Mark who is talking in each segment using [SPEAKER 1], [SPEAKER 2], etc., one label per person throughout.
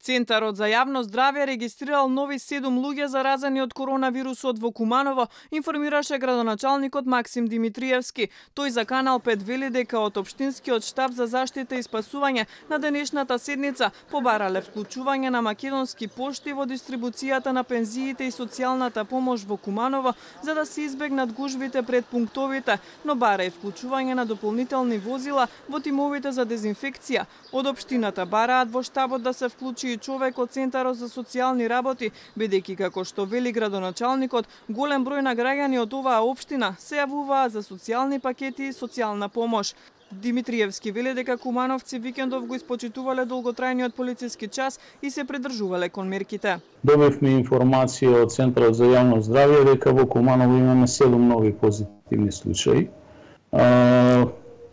[SPEAKER 1] Центарот за јавно здравје регистрирал нови 7 луѓе заразени од коронавирусот во Куманово, информираше градоначалникот Максим Димитриевски. Тој за Канал 5 вели дека од Општинскиот штаб за заштита и спасување на денешната седница побарале вклучување на македонски пошти во дистрибуцијата на пензиите и социјалната помош во Куманово за да се избегнат гужвите пред пунктовите, но бара и вклучување на дополнителни возила во тимовите за дезинфекција. Од општината бараат во штабот да се вклучи и човек од Центарот за социјални работи, бидејќи како што вели градоначалникот, голем број на граѓани од оваа општина се јавуваат за социјални пакети и социјална помош. Димитриевски вели дека кумановци викендов го испочитувале долготрајниот полициски час и се придржувале кон мерките.
[SPEAKER 2] Добивме информација од Центарот за јавно здравје дека во Куманово имаме 7 нови позитивни случаи.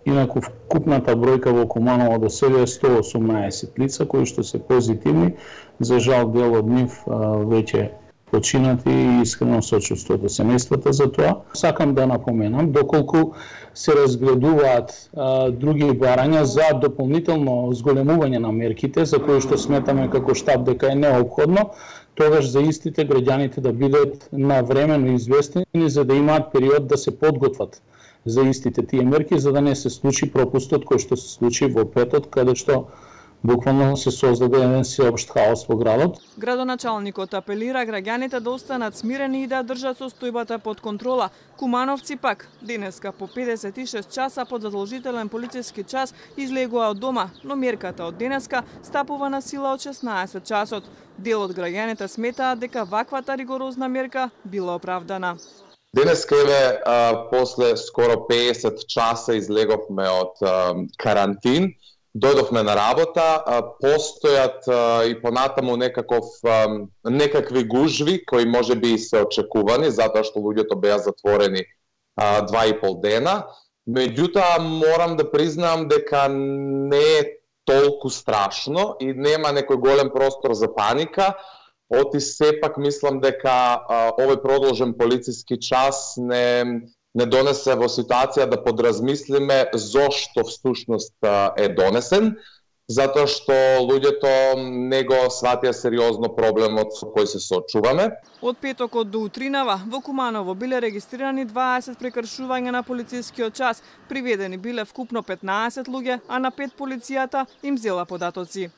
[SPEAKER 2] Инаку вкупната бројка во Куманово до сега е 118 лица кои што се позитивни. За жал дел од нив веќе починати и искрено сочувство до семејствата за тоа. Сакам да напоменам, доколку се разгледуваат други барања за дополнително зголемување на мерките, за кои што сметаме како штаб дека е неопходно, тогаш за истите граѓаните да бидат навремено известени за да имаат период да се подготват за истите тие мерки, за да не се случи пропустот кој што се случи во петот, каде што буквално се создаде еден сеопшт хаос во градот.
[SPEAKER 1] Градоначалникот апелира граѓаните да останат смирени и да држат состојбата под контрола. Кумановци пак денеска по 56 часа под задолжителен полициски час излегува од дома, но мерката од денеска стапува на сила од 16 часот. Дел од граѓаните сметаат дека ваквата ригорозна мерка била оправдана.
[SPEAKER 3] Денеска после скоро 50 часа излеговме од карантин, дојдовме на работа, постојат и понатаму некакви гужви кои можеби се очекувани, затоа што луѓето беа затворени 2,5 дена. Меѓутоа, морам да признам дека не е толку страшно и нема некој голем простор за паника. Оти сепак мислам дека овој продолжен полициски час не донесе во ситуација да подразмислиме зошто всушност е донесен, затоа што луѓето не го сватија сериозно проблемот со кој се соочуваме.
[SPEAKER 1] Од петокот до утринава во Куманово биле регистрирани 20 прекршувања на полицискиот час, приведени биле вкупно 15 луѓе, а на 5 полицијата им зела податоци.